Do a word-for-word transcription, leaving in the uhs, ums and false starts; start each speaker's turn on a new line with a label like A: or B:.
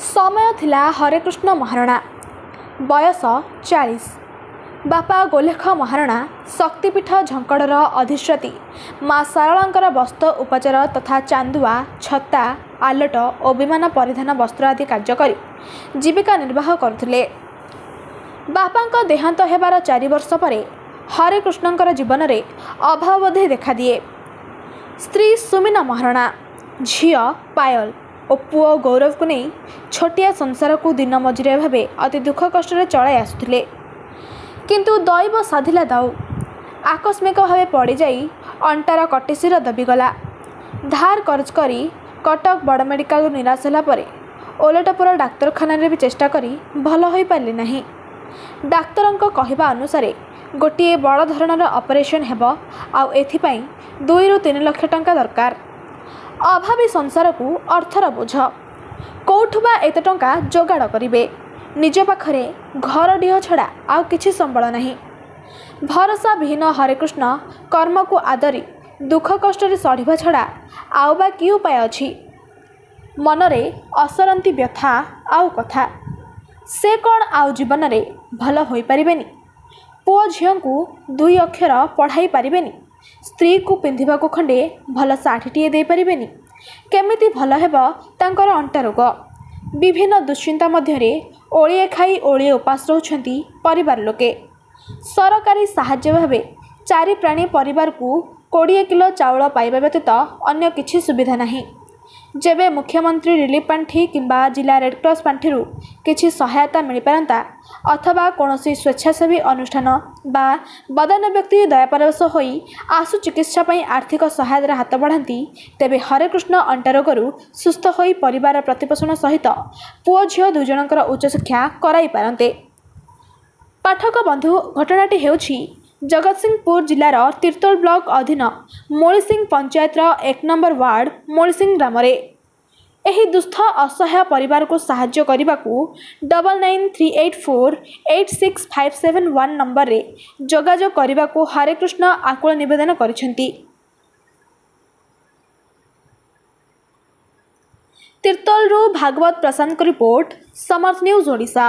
A: ସମୟ ଥିଲା ହରେକୃଷ୍ଣ ମହାରଣା, ବୟସ ଚାଳିଶ। ବାପା ଗୋଲେଖ ମହାରଣା ଶକ୍ତିପୀଠ ଝଙ୍କଡ଼ର ଅଧିଷ୍ଠାତ୍ରୀ ମା ଶାରଳାଙ୍କର ବସ୍ତ୍ର ଉପଚାର ତଥା ଚାନ୍ଦୁଆ, ଛତା, ଆଲଟ ଓ ବିମାନ ପରିଧାନ ବସ୍ତ୍ର ଆଦି କାର୍ଯ୍ୟ କରି ଜୀବିକା ନିର୍ବାହ କରୁଥିଲେ। ବାପାଙ୍କ ଦେହାନ୍ତ ହେବାର ଚାରି ବର୍ଷ ପରେ ହରେକୃଷ୍ଣଙ୍କର ଜୀବନରେ ଅଭାବବୋଧ ଦେଖାଦିଏ। ସ୍ତ୍ରୀ ସୁମିନା ମହାରଣା, ଝିଅ ପାୟଲ ଓ ପୁଅ ଗୌରବକୁ ନେଇ ଛୋଟିଆ ସଂସାରକୁ ଦିନ ମଜୁରିଆ ଭାବେ ଅତି ଦୁଃଖ କଷ୍ଟରେ ଚଳାଇ ଆସୁଥିଲେ। କିନ୍ତୁ ଦୈବ ସାଧିଲା ଦାଉ, ଆକସ୍ମିକ ଭାବେ ପଡ଼ିଯାଇ ଅଣ୍ଟାର କଟିଶିର ଦବିଗଲା। ଧାର କରଜ କରି କଟକ ବଡ଼ ମେଡ଼ିକାଲରୁ ନିରାଶ ହେଲା ପରେ ଓଲଟପୁର ଡାକ୍ତରଖାନାରେ ବି ଚେଷ୍ଟା କରି ଭଲ ହୋଇପାରିଲେ ନାହିଁ। ଡାକ୍ତରଙ୍କ କହିବା ଅନୁସାରେ ଗୋଟିଏ ବଡ଼ ଧରଣର ଅପରେସନ୍ ହେବ, ଆଉ ଏଥିପାଇଁ ଦୁଇରୁ ତିନି ଲକ୍ଷ ଟଙ୍କା ଦରକାର। ଅଭାବୀ ସଂସାରକୁ ଅର୍ଥର ବୋଝ, କେଉଁଠୁ ବା ଏତେ ଟଙ୍କା ଯୋଗାଡ଼ କରିବେ? ନିଜ ପାଖରେ ଘର ଡିହ ଛଡ଼ା ଆଉ କିଛି ସମ୍ବଳ ନାହିଁ। ଭରସା ବିହୀନ ହରେକୃଷ୍ଣ କର୍ମକୁ ଆଦରି ଦୁଃଖ କଷ୍ଟରେ ସଢ଼ିବା ଛଡ଼ା ଆଉ ବା କି ଉପାୟ ଅଛି? ମନରେ ଅସରନ୍ତି ବ୍ୟଥା ଆଉ କଥା, ସେ କ'ଣ ଆଉ ଜୀବନରେ ଭଲ ହୋଇପାରିବେନି? ପୁଅ ଝିଅଙ୍କୁ ଦୁଇ ଅକ୍ଷର ପଢ଼ାଇ ପାରିବେନି? ସ୍ତ୍ରୀକୁ ପିନ୍ଧିବାକୁ ଖଣ୍ଡେ ଭଲ ଶାଢ଼ୀଟିଏ ଦେଇପାରିବେନି? କେମିତି ଭଲ ହେବ ତାଙ୍କର ଅଣ୍ଟା ରୋଗ? ବିଭିନ୍ନ ଦୁଶ୍ଚିନ୍ତା ମଧ୍ୟରେ ଓଳିଏ ଖାଇ ଓଳିଏ ଉପାସ ରହୁଛନ୍ତି ପରିବାର ଲୋକେ। ସରକାରୀ ସାହାଯ୍ୟ ଭାବେ ଚାରି ପ୍ରାଣୀ ପରିବାରକୁ କୋଡ଼ିଏ କିଲୋ ଚାଉଳ ପାଇବା ବ୍ୟତୀତ ଅନ୍ୟ କିଛି ସୁବିଧା ନାହିଁ। ଯେବେ ମୁଖ୍ୟମନ୍ତ୍ରୀ ରିଲିଫ୍ ପାଣ୍ଠି କିମ୍ବା ଜିଲ୍ଲା ରେଡ଼କ୍ରସ୍ ପାଣ୍ଠିରୁ କିଛି ସହାୟତା ମିଳିପାରନ୍ତା, ଅଥବା କୌଣସି ସ୍ୱେଚ୍ଛାସେବୀ ଅନୁଷ୍ଠାନ ବା ବଦାନ୍ୟ ବ୍ୟକ୍ତି ଦୟାପରବଶ ହୋଇ ଆଶୁ ଚିକିତ୍ସା ପାଇଁ ଆର୍ଥିକ ସହାୟତାର ହାତ ବଢ଼ାନ୍ତି, ତେବେ ହରେକୃଷ୍ଣ ଅଣ୍ଟା ରୋଗରୁ ସୁସ୍ଥ ହୋଇ ପରିବାର ପ୍ରତିପୋଷଣ ସହିତ ପୁଅ ଝିଅ ଦୁଇଜଣଙ୍କର ଉଚ୍ଚଶିକ୍ଷା କରାଇ ପାରନ୍ତେ। ପାଠକ ବନ୍ଧୁ, ଘଟଣାଟି ହେଉଛି ଜଗତସିଂହପୁର ଜିଲ୍ଲାର ତିର୍ତ୍ତୋଲ ବ୍ଲକ ଅଧୀନ ମୋଳିସିଂ ପଞ୍ଚାୟତର ଏକ ନମ୍ବର ୱାର୍ଡ଼ ମୋଳିସିଂ ଗ୍ରାମରେ। ଏହି ଦୁଃସ୍ଥ ଅସହାୟ ପରିବାରକୁ ସାହାଯ୍ୟ କରିବାକୁ double nine three eight four eight six five seven one ନମ୍ବରରେ ଯୋଗାଯୋଗ କରିବାକୁ ହରେକୃଷ୍ଣ ଆକୁଳ ନିବେଦନ କରିଛନ୍ତି। ତିର୍ତ୍ତୋଲରୁ ଭାଗବତ ପ୍ରସାଦଙ୍କ ରିପୋର୍ଟ, ସମର୍ଥ ନ୍ୟୁଜ୍ ଓଡ଼ିଶା।